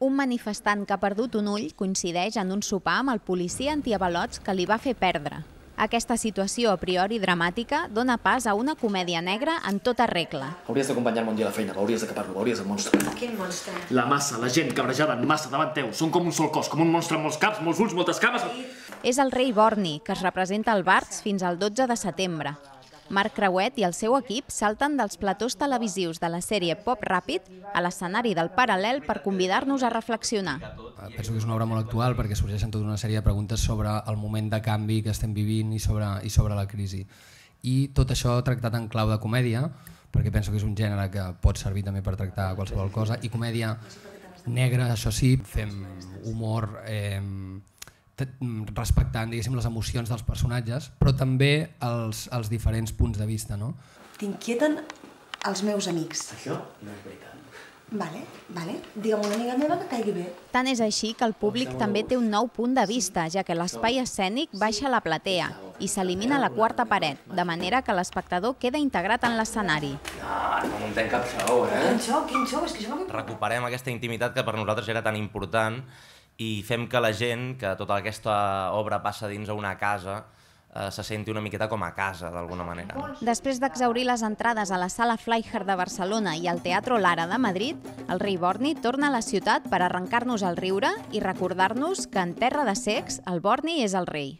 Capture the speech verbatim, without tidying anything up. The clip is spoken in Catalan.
Un manifestant que ha perdut un ull coincideix en un sopar amb el policia antiavalots que li va fer perdre. Aquesta situació a priori dramàtica dona pas a una comèdia negra en tota regla. Hauries d'acompanyar-me un dia a la feina, veuries de què parlo, veuries el monstre. Quin monstre? La massa, la gent cabrejada en massa davant teu, són com un sol cos, com un monstre amb molts caps, molts ulls, moltes cames... És el rei Borni, que es representa al Barts fins al dotze de setembre. Marc Creuet i el seu equip salten dels platós televisius de la sèrie Pop Ràpid a l'escenari del Paral·lel per convidar-nos a reflexionar. Penso que és una obra molt actual perquè sorgeixen tota una sèrie de preguntes sobre el moment de canvi que estem vivint i sobre, i sobre la crisi. I tot això tractat en clau de comèdia, perquè penso que és un gènere que pot servir també per tractar qualsevol cosa, i comèdia negra, això sí, fem humor... Eh, respectant, diguéssim, les emocions dels personatges, però també els, els diferents punts de vista, no? T'inquieten els meus amics. Això no és veritat. Vale, vale. Digue'm una amiga meva que caigui bé. Tant és així que el públic també té un nou punt de vista, ja que l'espai escènic baixa a la platea i s'elimina la quarta paret, de manera que l'espectador queda integrat en l'escenari. No, no muntem cap show, eh? Quin xou, quin xou, és que jo... Recuperem aquesta intimitat que per nosaltres era tan important i fem que la gent, que tota aquesta obra passa dins a una casa, eh, se senti una miqueta com a casa, d'alguna manera. No? Després d'exhaurir les entrades a la Sala Fleischer de Barcelona i al Teatro Lara de Madrid, el rei Borni torna a la ciutat per arrencar-nos el riure i recordar-nos que en terra de cecs el Borni és el rei.